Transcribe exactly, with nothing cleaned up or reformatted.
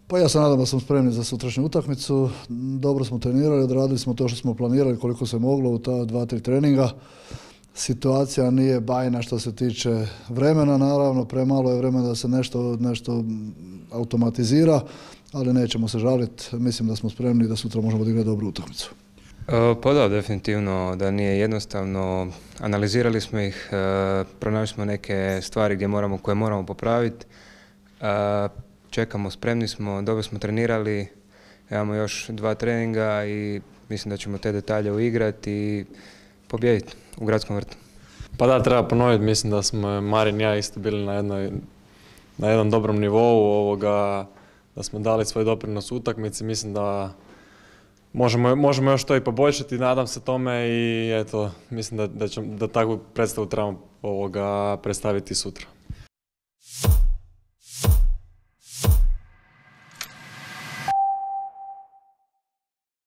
Pa ja se nadam da smo spremni za sutrašnju utakmicu. Dobro smo trenirali, odradili smo to što smo planirali koliko se moglo u ta dva, tri treninga. Situacija nije bajna što se tiče vremena, naravno, premalo je vremena da se nešto, nešto automatizira, ali nećemo se žaliti. Mislim da smo spremni i da sutra možemo odigrati dobru utakmicu. Pa da, definitivno da nije jednostavno. Analizirali smo ih, pronašli smo neke stvari gdje moramo, koje moramo popraviti. Čekamo, spremni smo, dobro smo trenirali, imamo još dva treninga i mislim da ćemo te detalje uigrati i pobijediti u Gradskom vrtu. Pa da, treba ponoviti, mislim da smo Marin i ja isto bili na, jednoj, na jednom dobrom nivou, ovoga, da smo dali svoj doprinos utakmici, mislim da možemo, možemo još to i poboljšati, nadam se tome i eto, mislim da, da, ćemo, da takvu predstavu trebamo ovoga predstaviti sutra.